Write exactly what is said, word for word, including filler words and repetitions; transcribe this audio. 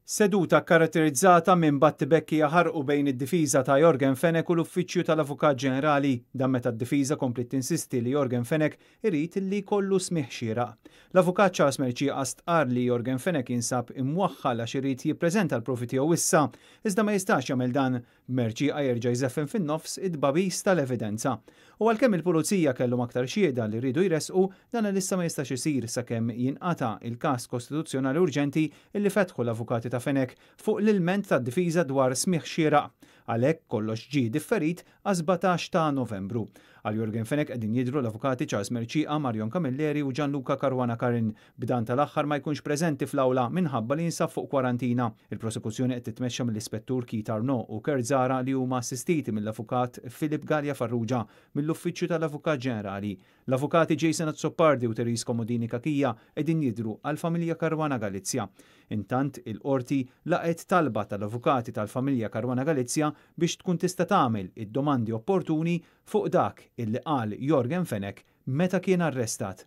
Seduta karatterizzata minn battibekki jaħarqu bejn id-difiża ta' Yorgen Fenech u l-Uffiċċju tal-Avukat Ġenerali, dan meta d-difiża kompliet tinsisti li Yorgen Fenech irid li jkollu smigħ xieraq. L-Avukat Charles Mercieca stqarr li Yorgen Fenech jinsab imwaħħal għax irid jippreżenta l-provi tiegħu issa, iżda ma jistax jagħmel dan. Mercieca jerġa' jżeffen fin-nofs it-tbagħbis tal-evidenza. U għalkemm il-pulizija kellhom aktar xhieda li rridu jressqu, dan issa ma jistax isir sakemm jinqata' il-każ kostituzzjonali urġenti illi fetħu l-avukati ta' Fenech fuq l-ilment tad-difiża dwar smigħ xieraq. Għalhekk kollox ġie differit għas sbatax ta' Novembru. Għal Yorgen Fenech qegħdin jidhru l-avukati Charles Mercieca, Marion Camilleri u Gianluca Caruana Curran, b'dan tal-aħħar ma jkunx preżenti fl-awla minħabba li jinsab fuq kwarantina. Il-prosekuzzjoni qed titmexxa mill-Ispettur Keith Arnaud u Kurt Zahra, li huma assistiti mill-Avukat Philip Galea Farrugia mill-Uffiċċju tal-Avukat Ġenerali. L-avukati Jason Azzopardi u Therese Comodini Cachia qegħdin jidhru għall-familja Caruana Galizia. Intant, il-qorti laqgħet talba tal-avukati tal-familja Caruana Galizia biex tkun tista' tagħmel id-domandi opportuni fuq dak illi qal Yorgen Fenech meta kien arrestat.